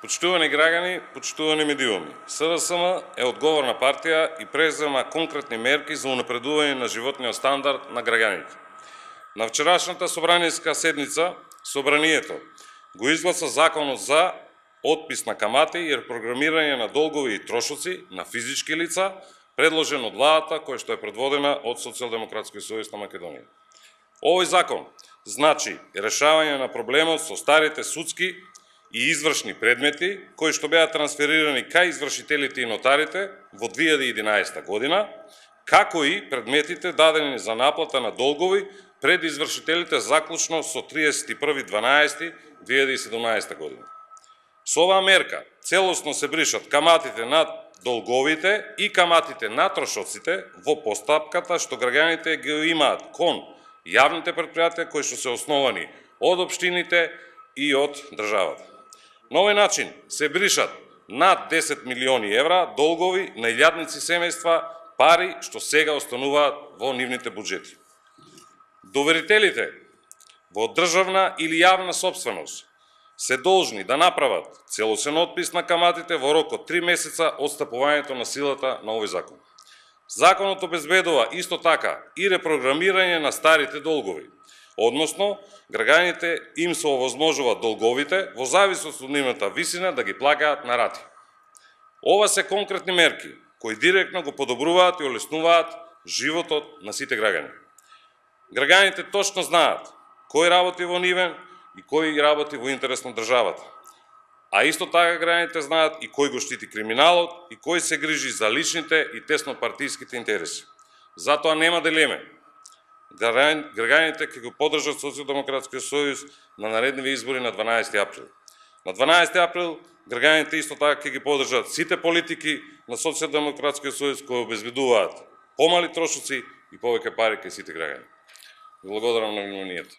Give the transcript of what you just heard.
Почитувани граѓани, почитувани медиуми, СДСМ е одговорна партија и презема конкретни мерки за унапредување на животниот стандард на граѓаните. На вчерашната собраниска седница, собранието го изгласа законот за отпис на камати и репрограмирање на долгови и трошоци на физички лица, предложен од владата која што е предводена од Социјалдемократскиот сојуз на Македонија. Овој закон значи решавање на проблемот со старите судски и извршни предмети, кои што беа трансферирани кај извршителите и нотарите во 2011 година, како и предметите дадени за наплата на долгови пред извршителите заклучно со 31.12.2017 година. Со оваа мерка целосно се бришат каматите на долговите и каматите на трошоците во постапката што граѓаните ги имаат кон јавните предпријатија кои што се основани од општините и од државата. На овој начин се бришат над 10 милиони евра долгови на илјадници семејства, пари што сега остануваат во нивните буџети. Доверителите во државна или јавна сопственост се должни да направат целосен отпис на каматите во рок од 3 месеца од стапувањето на силата на овој закон. Законот обезбедува исто така и репрограмирање на старите долгови, односно граѓаните им се овозможува долговите во зависност од нивната висина да ги плаќаат на рати. Ова се конкретни мерки кои директно го подобруваат и олеснуваат животот на сите граѓани. Граѓаните точно знаат кој работи во нивен и кој работи во интерес на државата. А исто така граѓаните знаат и кој го штити криминалот и кој се грижи за личните и теснопартиските интереси. Затоа нема дилеме. Граѓаните ќе го поддржат Социјалдемократскиот сојуз на наредниви избори на 12 април. На 12 април граѓаните исто така ќе ги поддржат сите политики на Социјалдемократскиот сојуз кои обезбедуваат помали трошоци и повеќе пари кај сите граѓани. Благодарам на вниманието.